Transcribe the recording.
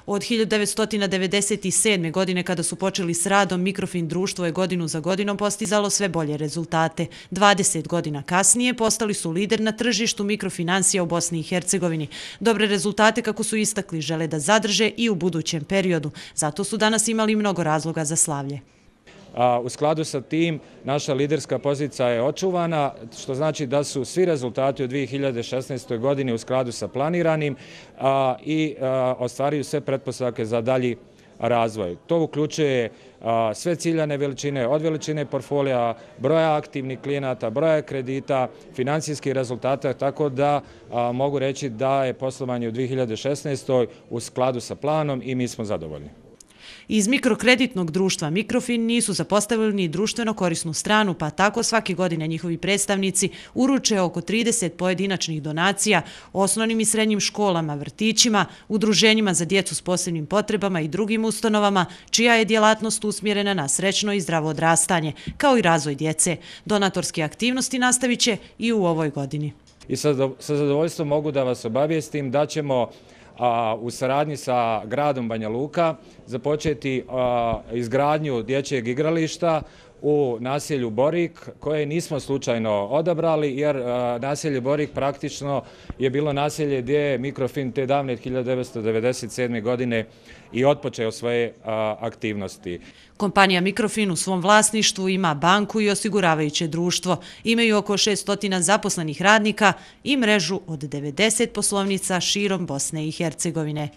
Od 1997. godine kada su počeli s radom, Mikrofin društvo je godinu za godinom postizalo sve bolje rezultate. 20 godina kasnije postali su lider na tržištu mikrofinansija u Bosni i Hercegovini. Dobre rezultate, kako su istakli, žele da zadrže i u budućem periodu. Zato su danas imali mnogo razloga za slavlje. U skladu sa tim, naša liderska pozicija je očuvana, što znači da su svi rezultati u 2016. godini u skladu sa planiranim i ostvaruju sve pretpostavke za dalji razvoj. To uključuje sve ciljane veličine, od veličine portfolija, broja aktivnih klijenata, broja kredita, financijskih rezultata, tako da mogu reći da je poslovanje u 2016. u skladu sa planom i mi smo zadovoljni. Iz mikrokreditnog društva Mikrofin nisu zapostavili ni društveno korisnu stranu, pa tako svake godine njihovi predstavnici uruče oko 30 pojedinačnih donacija osnovnim i srednjim školama, vrtićima, udruženjima za djecu s posebnim potrebama i drugim ustanovama, čija je djelatnost usmjerena na srećno i zdravo odrastanje, kao i razvoj djece. Donatorske aktivnosti nastavit će i u ovoj godini. I sa zadovoljstvom mogu da vas obavijestim da ćemo u saradnji sa gradom Banja Luka započeti izgradnju dječjeg igrališta u naselju Borik, koje nismo slučajno odabrali, jer naselje Borik praktično je bilo naselje gdje je Mikrofin te davne 1997. godine i otpočeo svoje aktivnosti. Kompanija Mikrofin u svom vlasništvu ima banku i osiguravajuće društvo. Imaju oko 600 zaposlenih radnika i mrežu od 90 poslovnica širom Bosne i Hercegovine.